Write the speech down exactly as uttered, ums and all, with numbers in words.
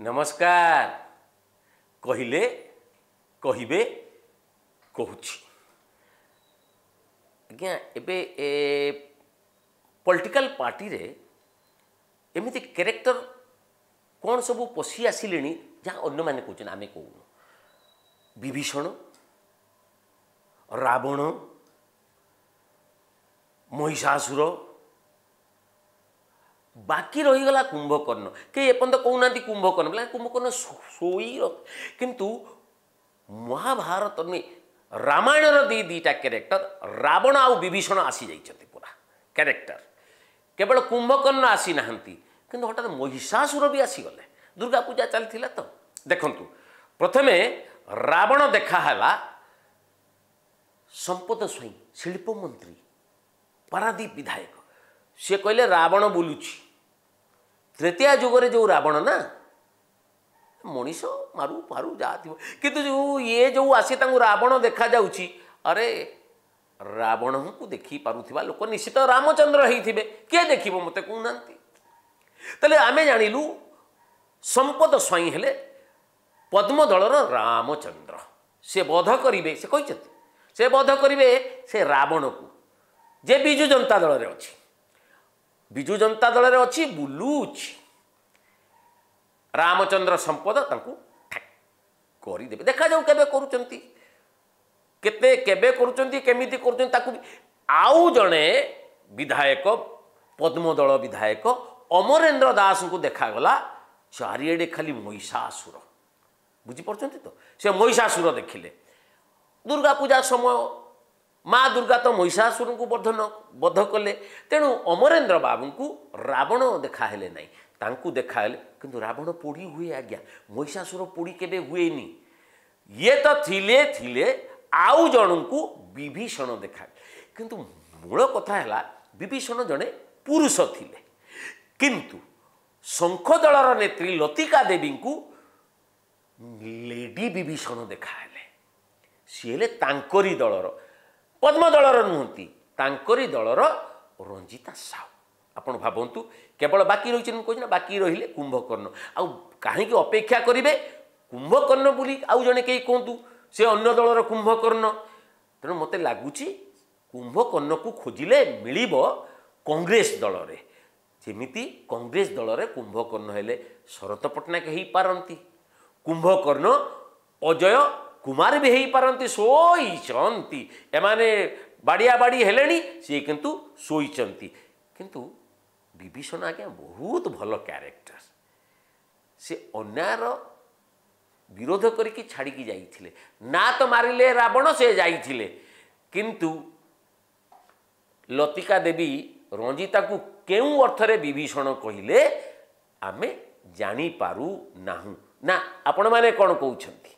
ନମସ୍କାର କହିଲେ କହିବେ କହୁଛି ଆଜ୍ଞା। ଏବେ ଏ ପଲିଟିକାଲ ପାର୍ଟିରେ ଏମିତି କ୍ୟାରେକ୍ଟର କ'ଣ ସବୁ ପଶି ଆସିଲେଣି, ଯାହା ଅନ୍ୟମାନେ କହୁଛନ୍ତି, ଆମେ କହୁନୁ। ବିଭୀଷଣ, ରାବଣ, ମହିଷାସୁର, ବାକି ରହିଗଲା କୁମ୍ଭକର୍ଣ୍ଣ। କେହି ଏପର୍ଯ୍ୟନ୍ତ କହୁନାହାନ୍ତି କୁମ୍ଭକର୍ଣ୍ଣ ବୋଲେ। କୁମ୍ଭକର୍ଣ୍ଣ ଶୋଇ, କିନ୍ତୁ ମହାଭାରତ ନୁହେଁ, ରାମାୟଣର ଦୁଇ ଦୁଇଟା କ୍ୟାରେକ୍ଟର ରାବଣ ଆଉ ବିଭୀଷଣ ଆସିଯାଇଛନ୍ତି ପୁରା କ୍ୟାରେକ୍ଟର। କେବଳ କୁମ୍ଭକର୍ଣ୍ଣ ଆସିନାହାନ୍ତି, କିନ୍ତୁ ହଠାତ୍ ମହିଷାସୁର ବି ଆସିଗଲେ। ଦୁର୍ଗା ପୂଜା ଚାଲିଥିଲା ତ। ଦେଖନ୍ତୁ, ପ୍ରଥମେ ରାବଣ ଦେଖାହେଲା ସମ୍ପଦ ସ୍ୱାଇଁ, ଶିଳ୍ପମନ୍ତ୍ରୀ, ପାରାଦୀପ ବିଧାୟକ। ସିଏ କହିଲେ ରାବଣ ବୁଲୁଛି। ତ୍ରେତୟା ଯୁଗରେ ଯେଉଁ ରାବଣ ନା, ମଣିଷ ମାରୁ ଫାରୁ ଯାହା ଥିବ, କିନ୍ତୁ ଯେଉଁ ଇଏ ଯେଉଁ ଆସି ତାଙ୍କୁ ରାବଣ ଦେଖାଯାଉଛି, ଆରେ ରାବଣଙ୍କୁ ଦେଖିପାରୁଥିବା ଲୋକ ନିଶ୍ଚିତ ରାମଚନ୍ଦ୍ର ହେଇଥିବେ। କିଏ ଦେଖିବ ମୋତେ କହୁନାହାନ୍ତି? ତାହେଲେ ଆମେ ଜାଣିଲୁ ସମ୍ପଦ ସ୍ୱାଇଁ ହେଲେ ପଦ୍ମ ଦଳର ରାମଚନ୍ଦ୍ର। ସେ ବଧ କରିବେ, ସେ କହିଛନ୍ତି ସେ ବଧ କରିବେ ସେ ରାବଣକୁ ଯେ ବିଜୁ ଜନତା ଦଳରେ ଅଛି। ବିଜୁ ଜନତା ଦଳରେ ଅଛି, ବୁଲୁଛି। ରାମଚନ୍ଦ୍ର ସମ୍ପଦ ତାଙ୍କୁ କରିଦେବେ। ଦେଖାଯାଉ କେବେ କରୁଛନ୍ତି, କେତେ କେବେ କରୁଛନ୍ତି, କେମିତି କରୁଛନ୍ତି ତାକୁ। ଆଉ ଜଣେ ବିଧାୟକ, ପଦ୍ମ ଦଳ ବିଧାୟକ ଅମରେନ୍ଦ୍ର ଦାସଙ୍କୁ ଦେଖାଗଲା ଚାରିଆଡ଼େ ଖାଲି ମହିଷାସୁର। ବୁଝିପାରୁଛନ୍ତି ତ? ସେ ମହିଷାସୁର ଦେଖିଲେ। ଦୁର୍ଗା ପୂଜା ସମୟ, ମା ଦୁର୍ଗା ତ ମହିଷାସୁରଙ୍କୁ ବଧ ବଧ କଲେ। ତେଣୁ ଅମରେନ୍ଦ୍ର ବାବୁଙ୍କୁ ରାବଣ ଦେଖାହେଲେ ନାହିଁ, ତାଙ୍କୁ ଦେଖାହେଲେ। କିନ୍ତୁ ରାବଣ ପୋଡ଼ି ହୁଏ ଆଜ୍ଞା, ମହିଷାସୁର ପୋଡ଼ି କେବେ ହୁଏନି। ଇଏ ତ ଥିଲେ ଥିଲେ, ଆଉ ଜଣଙ୍କୁ ବିଭୀଷଣ ଦେଖା। କିନ୍ତୁ ମୂଳ କଥା ହେଲା ବିଭୀଷଣ ଜଣେ ପୁରୁଷ ଥିଲେ, କିନ୍ତୁ ଶଙ୍ଖ ଦଳର ନେତ୍ରୀ ଲତିକା ଦେବୀଙ୍କୁ ଲେଡି ବିଭୀଷଣ ଦେଖାହେଲେ। ସିଏ ହେଲେ ତାଙ୍କରି ଦଳର, ପଦ୍ମ ଦଳର ନୁହନ୍ତି, ତାଙ୍କରି ଦଳର ରଞ୍ଜିତା ସାହୁ। ଆପଣ ଭାବନ୍ତୁ, କେବଳ ବାକି ରହିଛି, ମୁଁ କହୁଛି ନା, ବାକି ରହିଲେ କୁମ୍ଭକର୍ଣ୍ଣ। ଆଉ କାହିଁକି ଅପେକ୍ଷା କରିବେ? କୁମ୍ଭକର୍ଣ୍ଣ ବୋଲି ଆଉ ଜଣେ କେହି କୁହନ୍ତୁ, ସେ ଅନ୍ୟ ଦଳର କୁମ୍ଭକର୍ଣ୍ଣ। ତେଣୁ ମୋତେ ଲାଗୁଛି କୁମ୍ଭକର୍ଣ୍ଣକୁ ଖୋଜିଲେ ମିଳିବ କଂଗ୍ରେସ ଦଳରେ। ଯେମିତି କଂଗ୍ରେସ ଦଳରେ କୁମ୍ଭକର୍ଣ୍ଣ ହେଲେ ଶରତ ପଟ୍ଟନାୟକ ହେଇପାରନ୍ତି, କୁମ୍ଭକର୍ଣ୍ଣ ଅଜୟ କୁମାର ବି ହେଇପାରନ୍ତି। ଶୋଇଛନ୍ତି ଏମାନେ, ବାଡ଼ିଆ ବାଡ଼ି ହେଲେଣି, ସିଏ କିନ୍ତୁ ଶୋଇଛନ୍ତି। କିନ୍ତୁ ବିଭୀଷଣ ଆଜ୍ଞା ବହୁତ ଭଲ କ୍ୟାରେକ୍ଟର। ସେ ଅନ୍ୟାୟର ବିରୋଧ କରିକି ଛାଡ଼ିକି ଯାଇଥିଲେ ନା, ତ ମାରିଲେ ରାବଣ, ସେ ଯାଇଥିଲେ। କିନ୍ତୁ ଲତିକା ଦେବୀ ରଞ୍ଜିତାକୁ କେଉଁ ଅର୍ଥରେ ବିଭୀଷଣ କହିଲେ ଆମେ ଜାଣିପାରୁ ନାହୁଁ ନା? ଆପଣମାନେ କ'ଣ କହୁଛନ୍ତି?